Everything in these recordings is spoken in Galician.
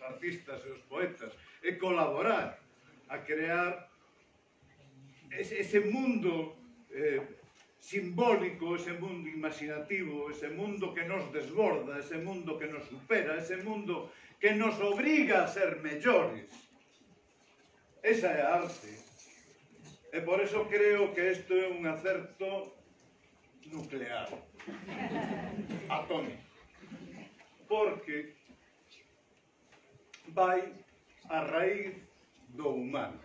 artistas e os poetas, e colaborar a crear ese mundo simbólico, ese mundo imaginativo, ese mundo que nos desborda, ese mundo que nos supera, ese mundo que nos obriga a ser mellores. Esa é a arte. E por eso creo que isto é un acerto nuclear, atómico, porque vai a raíz do humano.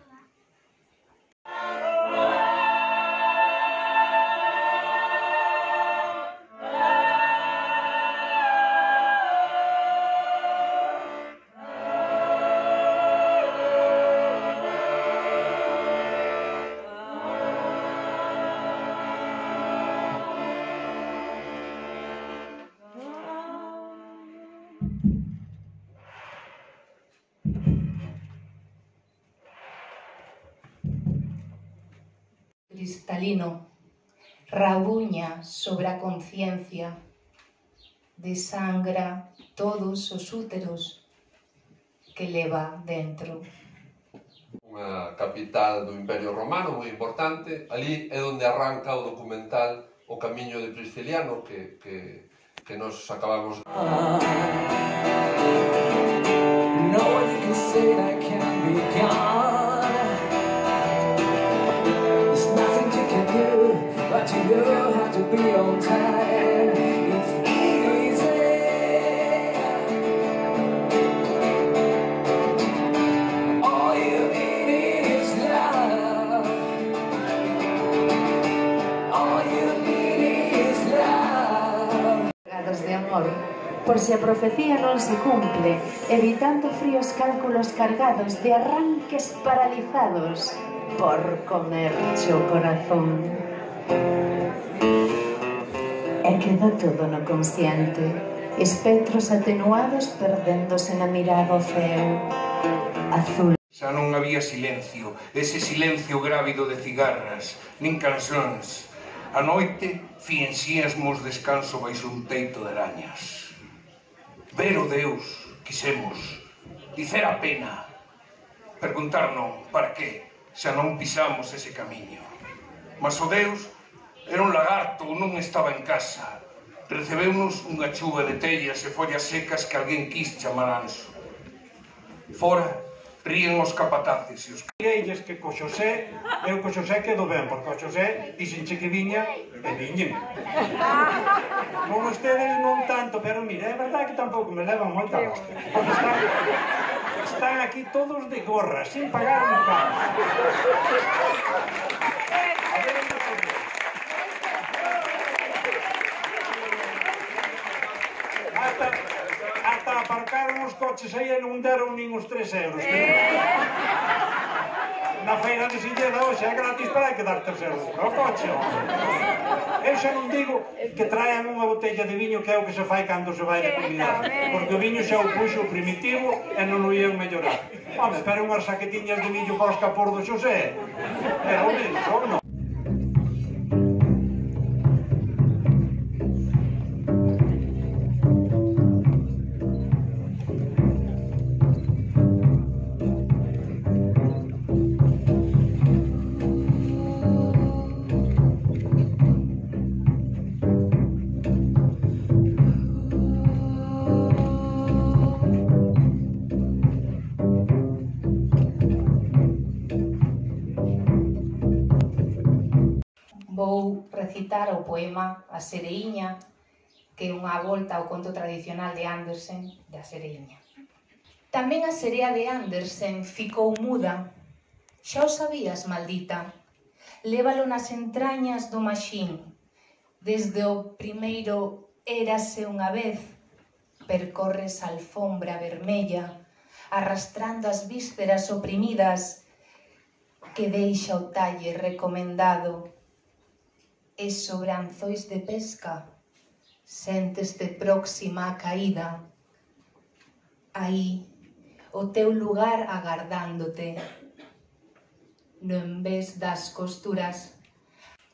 Cristalino, rabuña sobre a conciencia, desangra todos os úteros que leva dentro. Unha capital do Imperio Romano moi importante, ali é onde arranca o documental O Camiño de Prisciliano que nos acabamos de... No one can say that can be gone. There's nothing you can do, but you know how to be on time. It's easy. All you need is love. All you need is love. Cargados de amor, por si a profecía non se cumple, evitando fríos cálculos cargados de arranques paralizados por comerche o corazón. E queda todo no consciente, espectros atenuados perdéndose na mirada ao ceo azul. Xa non había silencio, ese silencio grávido de cigarras, nin cancións. A noite fienxíasmos descanso baixo un teito de arañas. Ver o Deus, quisemos, dicer a pena, perguntar non, para que, xa non pisamos ese camiño. Mas o Deus era un lagarto, non estaba en casa. Recebeunos unha chuva de tellas e follas secas que alguén quis chamar anso. Fora, ríen os capataces e os... Direilles que co Xosé, eu co Xosé quedo ben, porque o Xosé dixenche que viña e viñen. Non ustedes non tanto, pero mire, é verdade que tampouco me levan moita hostia. Porque están aquí todos de gorra, sin pagar un carro. A ver, ata aparcaron os coches aí e non deron nin os 3 euros. Na feira de Silleda hoxe é gratis para que dar 3 euros o coche. Eu xa non digo que traen unha botella de viño que é o que se fai cando se vai de comunidade, porque o viño xa o puxo primitivo e non o ian mellorar. Home, pero unhas saquetiñas de millo para os capor do Xosé. Pero o mismo, non? Vou recitar o poema A Sereiña, que é unha volta ao conto tradicional de Andersen da Sereiña. Tamén a serea de Andersen ficou muda. Xa o sabías, maldita. Lévalo nas entrañas do maxín. Desde o primeiro érase unha vez, percorres a alfombra vermella, arrastrando as vísceras oprimidas que deixa o talle recomendado. E sobre anzois de pesca, sentes-te próxima a caída. Aí, o teu lugar agardándote, no envés das costuras.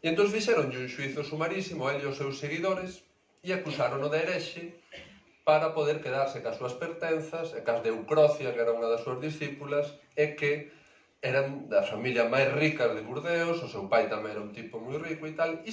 E entón fixeronlle un xuízo sumarísimo a ele e aos seus seguidores e acusaron-no de herexe para poder quedarse cas súas pertenzas e cas de Eucrocia, que era unha das súas discípulas, e que eran da familia máis ricas de Burdeos, o seu pai tamén era un tipo moi rico e tal, e